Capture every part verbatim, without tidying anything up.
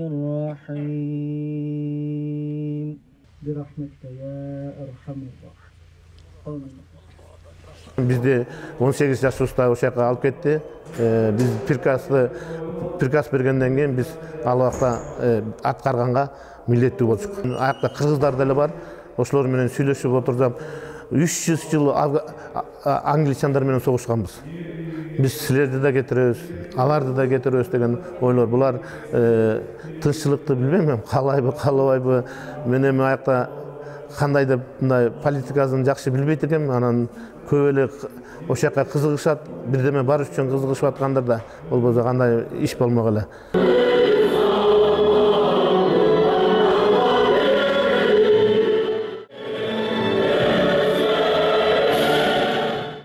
الرحيم برحمتك يا أرحم الراحمين. Бизди он сегиз жашыбызда ошол жака алып кетти. Биз приказды приказ бергенден кийин биз ал убакта аткарганга милдеттүү болчук. Аякта кыргыздар деле бар. Ошолор менен сүйлөшүп отурсам, үч жүз жыл англичандар менен согушканбыз. Биз силерди да кетиребиз, аларды да кетиребиз деген ойлор. Булар тынччылыкты билбейм, каалайбы, каалабайбы. Мен эми аякта кандай деп мындай политикасын жакшы билбейт экенмин. Анан көп эле ошол жака кызыгышат, бирдеме бар үчүн кызыгышып аткандар да болбосо кандай иш болмок эле.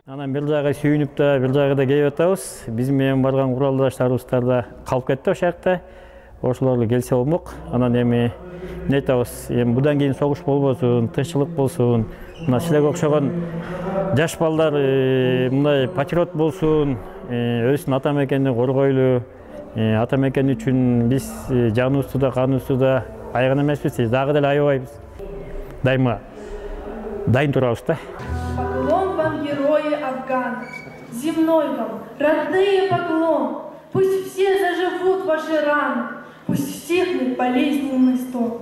Анан бир жагы сүйүнүп да, бир жагы да келип атабыз. Биз менен барган куралдаштарыбыздар да калып кетти ошол жакта. Ошолор келсе болмок. Анан эми не айтабыз? Эми будан кийин согуш болбосун, тынччылык болсун. Мына силерге окшогон жаш балдар мындай патриот болсун, өзүнүн ата мекенин коргойлу. Ата мекен үчүн биз жаныбызды да, каныбызды да аяган эмеспиз, дагы деле аябайбыз. Дайыма дайын турабыз да. Поклон вам, герои Афгана, земной вам, родные поклон. Пусть все заживут ваши раны, пусть стихнет болезненный стон.